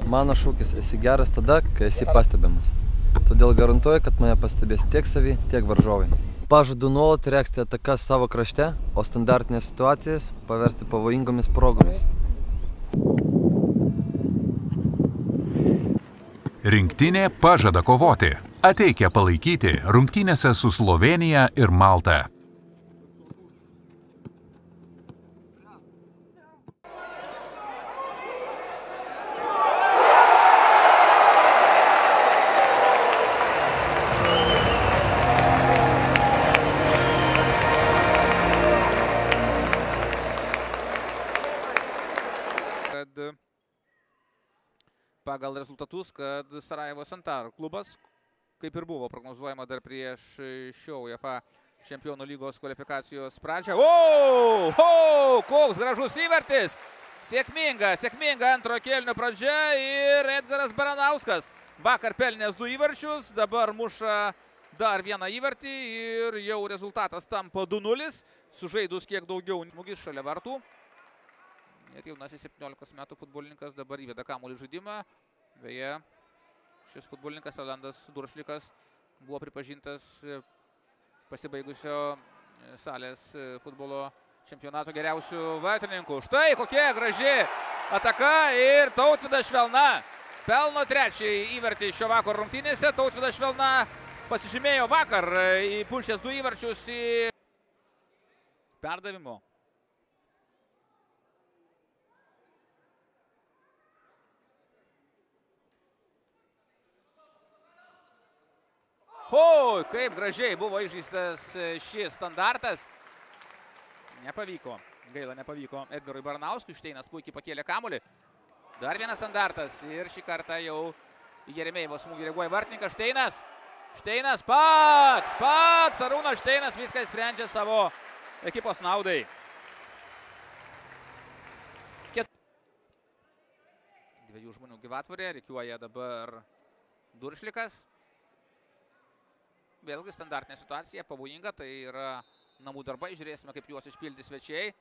Mano šūkis esi geras tada, kai esi pastebimas. Todėl garantuoju, kad mane pastebės tiek savi, tiek varžovai. Pažadu nuolat regzti atakas savo krašte, o standartinės situacijas paversti pavojingomis progomis. Rinktinė pažada kovoti. Ateikia palaikyti rungtynėse su Slovėnija ir Malta. Pagal rezultatus, kad Sarajevo Santar klubas, kaip ir buvo prognozuojama dar prieš šio UEFA čempionų lygos kvalifikacijos pradžią. Koks gražus įvartis! Sėkminga antrojo kėlinio pradžia ir Edgaras Baranauskas. Vakar pelnęs 2 įvarčius, dabar muša dar vieną įvartį ir jau rezultatas tampa 2-0, sužaidus kiek daugiau smūgis šalia vartų. Ir jaunasis 17 metų futbolininkas dabar įveda kamuolį žaidimą. Beje, šis futbolininkas Rolandas Duršlikas buvo pripažintas pasibaigusio salės futbolo čempionato geriausių vartininkų. Štai kokia graži ataka ir Tautvydas Švelna pelno 3. įvartį šio vakaro rungtynėse. Tautvydas Švelna pasižymėjo vakar įpulšęs 2 įvarčius į perdavimo. Kaip gražiai buvo išžaistas šis standartas. Nepavyko. Gaila, nepavyko Edgarui Baranauskui. Šteinas puikiai pakėlė kamuolį. Dar vienas standartas. Ir šį kartą jau į Jeremėjevo smūgį reaguoja vartininkas Šteinas. Šteinas pats. Arūnas Šteinas viską sprendžia savo ekipos naudai. Dviejų žmonių gyvatvorė. Rikiuoja dabar Duršlikas. Vėlgi standartinė situacija, pavojinga, tai yra namų darbai, žiūrėsime, kaip juos išpildys svečiai.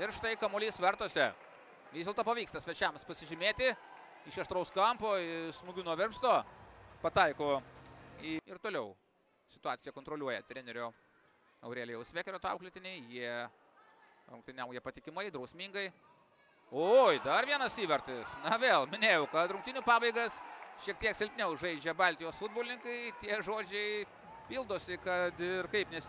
Ir štai kamuolys vartose. Vis dėlto pavyksta svečiams pasižymėti iš aštraus kampo, smūgių nuo virpsto, pataiko ir toliau situaciją kontroliuoja trenerio Aurelijaus Vekerio auklėtiniai. Jie rungtyniauja patikimai, drausmingai. Dar vienas įvartis. Na vėl, minėjau, kad rungtynių pabaigas šiek tiek silpniau žaidžia Baltijos futbolininkai. Tie žodžiai pildosi, kad ir kaip nes